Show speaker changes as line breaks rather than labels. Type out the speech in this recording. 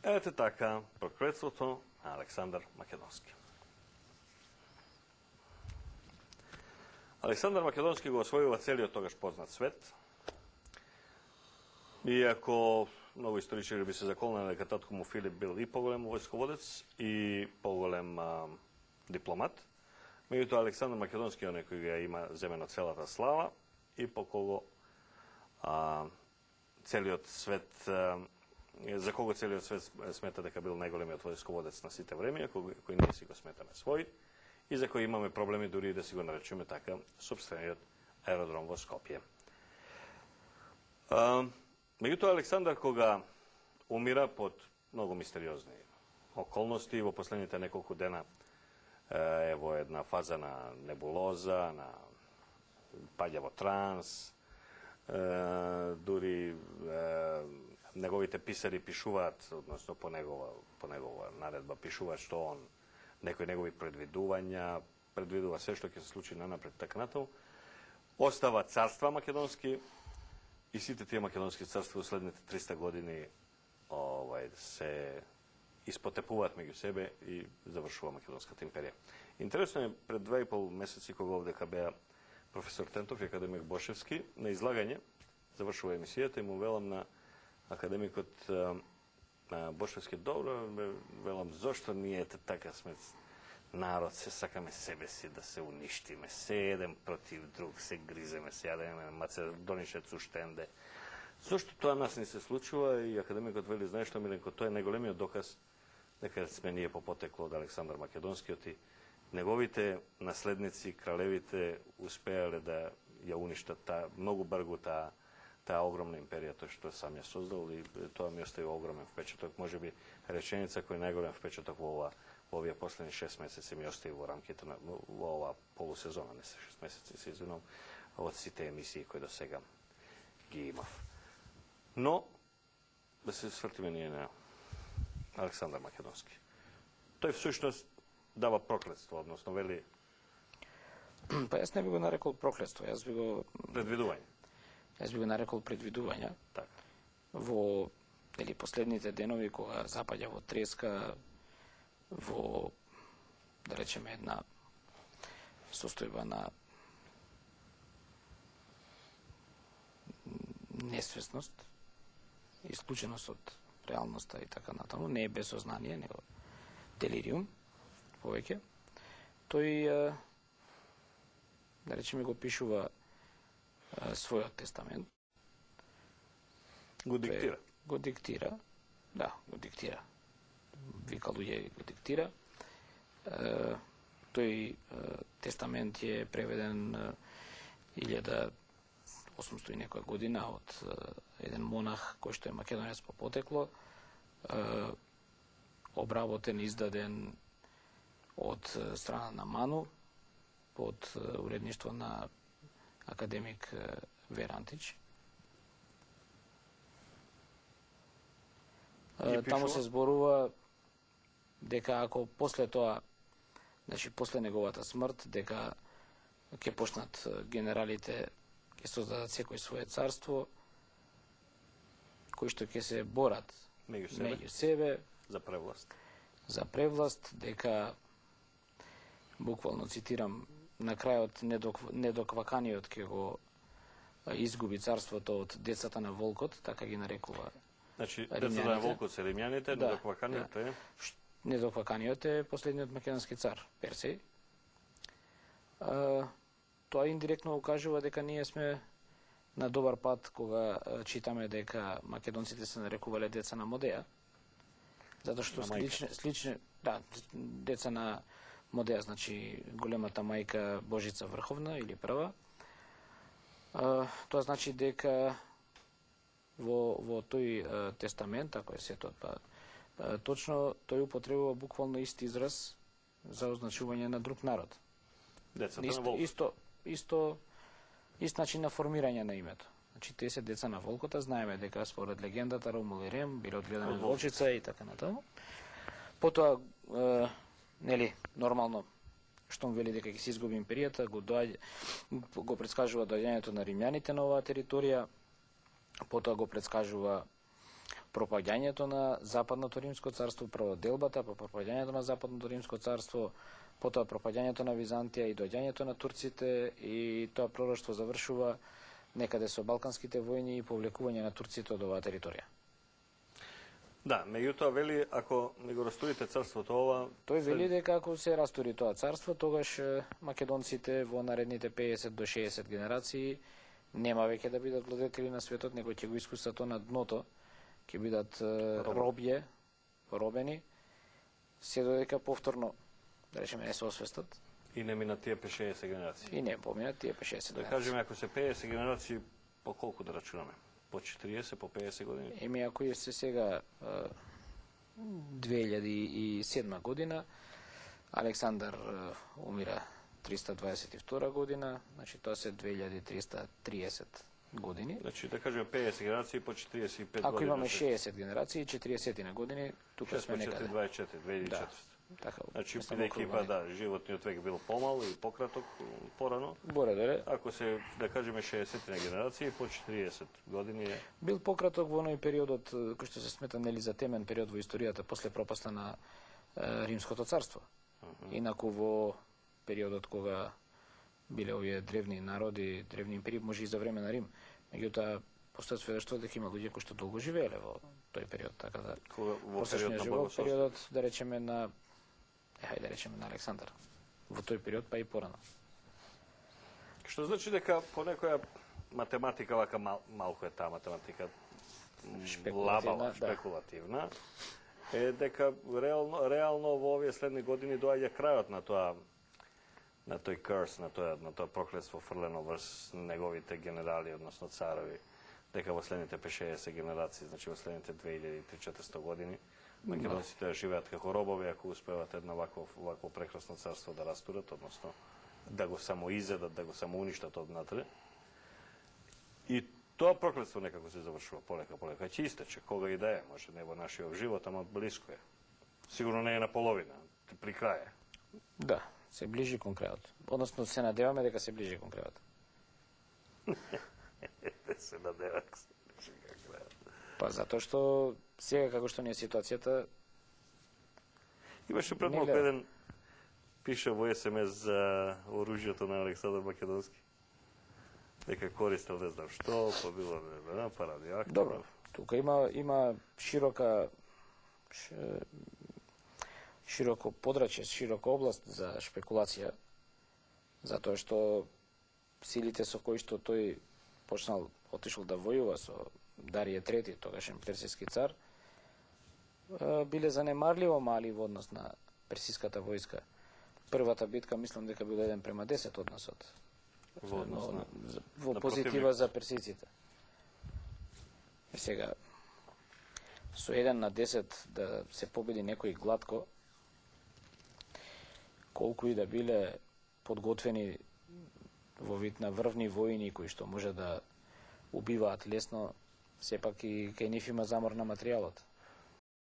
Ете така, проклетството на Александар Македонски. Александар Македонски го освојува целиот тогаш познат свет. Иако многу историчари би се заколнали дека татко му Филип бил и поголем војсководец и поголем дипломат. Меѓутоа Александар Македонски е оној кој ја има земено целата слава и по кого целиот свет за кого целиот свет смета дека бил најголемиот војсководец на сите времења, кој ние си го сметаме свој и за кој имаме проблеми дури да си го наречеме така сопствениот аеродром во Скопје. Меѓутоа Александар кога умира под многу мистериозни околности во последните неколку дена е во една фаза на небулоза, на паѓа во транс, дури неговите писари пишуваат, односно по негова наредба пишуваат што он некои негови предвидува се што ќе се случи нанапред така натаму. Остава царства македонски и сите тие македонски царства во следните 300 години се испотепуваат меѓу себе и завршува Македонската империја. Интересно е, пред 2,5 месеци кога овдека беа професор Тентов и академик Бошевски на излагање, завршува емисијата и му велам на академикот Бошевски, добро, велам, зошто ние така сме народ, се сакаме себе си да се уништиме, се еден против друг, се гриземе, се јадеме Македонишец уштенде. Зошто тоа нас не се случува и академикот вели, знаеш што, Миленко, тоа е најголемиот доказ дека сме ние по потекло од Александар Македонскиот и неговите наследници, кралевите, успеале да ја уништат многу бргу таа огромна империја, тоа што сам ја создал и тоа ми остави огромен впечаток. Можеби реченица кој најголем впечаток во овие последни 6 месеци ми остави во рамките на во оваа полусезона, не се 6 месеци, се извинувам, од сите емисии кои до сега ги имав. Но, да се свртиме ние на Александар Македонски. Тој всушност дава проклетство, односно вели...
Па јас не би го нарекол проклетство, јас би го...
Предвидување.
Јас би го нарекол предвидување.
Так.
Во последните денови кога запаѓа во треска, во, да речеме, една состојба на несвесност, исклученост од реалноста и така натаму, не е без сознание, него делириум, повеќе. Тој, да речеме, го пишува својот тестамент.
Го диктира.
Го диктира, да, го диктира. Вика луѓе го диктира. Тој тестамент е преведен 1800 и некоја година од еден монах кој што е македонец по потекло, обработен, издаден од страна на МАНУ под уредништво на академик Верантич. Таму се зборува дека ако после тоа, значи после неговата смрт, дека ќе почнат генералите, ќе создадат секој свое царство, кои што ќе се борат меѓу себе
за превласт.
За превласт, дека, буквално цитирам, на крајот недокваканиот ќе го изгуби царството од децата на волкот, така ги нарекува.
Значи, децата на волкот се римјаните, недокваканиот е?
Недокваканиот е последниот македонски цар, Персеј. Тоа индиректно укажува дека ние сме на добар пат кога читаме дека македонците се нарекувале деца на Модеја, затоа што слични, да, деца на Модеја, значи големата мајка Божица Врховна или прва. Тоа значи дека во тој тестамент, ако е сето, точно тој употребува буквално ист израз за означување на друг народ.
Децата на волкот.
Ист начин на формирање на името. Значи, тие се деца на волкота, знаеме дека според легендата Ромул и Рем биле одгледани од волчица и така натаму. Потоа, нормално, штом вели дека ќе се изгуби империјата, го предскажува доаѓањето на римјаните на оваа територија, потоа го предскажува пропаѓањето на Западното Римско царство, прво делбата, па пропаѓањето на Западното Римско царство, потоа пропаѓањето на Византија и доаѓањето на турците, и тоа пророштво завршува некаде со Балканските војни и повлекување на турците од оваа територија.
Да, меѓутоа вели, ако не го растурите царството ова...
Тој вели дека ако се растури тоа царство, тогаш македонците во наредните 50 до 60 генерации нема веќе да бидат владетели на светот, него ќе го искусат тоа на дното, ќе бидат робје, робени, се додека повторно, да речеме, не се освестат.
И не минат тие 50 генерации.
И не поминат тие 50 генерации.
Да кажеме, ако се 50 генерации, по колку да рачунаме? По 40, по 50 години?
Еми, ако е се сега 2007 година, Александар умира 322 година, значи тоа се 2330 години.
Значи, да кажеме 50 генерации по 45 години.
Ако имаме 60 генерации, 40 на години, тука сме некаде.
24, 24, 2400.
Да. Така,
значи, бидејќи па да, животниот век бил помал и пократок порано.
Боре-доре.
Ако се, да кажеме, 60 на генерации, по 40 години е...
Бил пократок во оној периодот, кој што се смета нели за темен период во историјата, после пропаста на Римското царство. Инаку во периодот кога биле овие древни народи, древни империи, може и за време на Рим. Меѓутоа, постојат сведоштва дека има луѓе кои што долго живееле во тој период, така да...
Во период на богословство.
Периодот, да речеме, на Александар. Во тој период, па и порано.
Што значи дека по некоја математика, вака малку е таа математика, лабава, шпекулативна, е дека реално во овие следни години доаѓа крајот на тоа, на тој curse, на тоа проклетство фрлено врз неговите генерали, односно царови, дека во следните 50 генерации, значи во следните 2300-400 години, македонците живеат како робови, ако успеват едно вакво прекрасно царство да растурат, односно да го самоизедат, да го самоуништат однатре. И тоа проклетство некако се завршува полека. Ќе истече, кога и да е, може не во нашиот живот, ама блиско е. Сигурно не е на половина, при крај е.
Да, се ближи кон крајот. Односно, се надеваме дека се ближи кон крајот.
Се надеваме дека се ближи кон крајот.
Па затоа што сега како што не е ситуацијата...
Имаше пред малку еден пише во СМС за оружјето на Александар Македонски. Дека користел не знам што, па било па радиоактивно.
Добро, тука има широко подрачје, широка област за шпекулација, затоа што силите со кои што тој отишол да војува со Дарије III, тогашен персиски цар, биле занемарливо мали во однос на персиската војска. Првата битка, мислам дека бил 1:10 односот. Во позитива за персиците. Сега, со 1:10 да се победи некој глатко, колку и да биле подготвени во вид на врвни војни кои што може да убиваат лесно, сепак и кај нив има замор на материјалот.